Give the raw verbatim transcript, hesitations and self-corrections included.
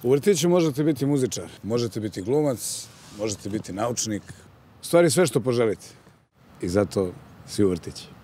U vrtiću možete biti muzičar, možete biti glumac, možete biti naučnik. U stvari sve što poželite. I zato svi u vrtići.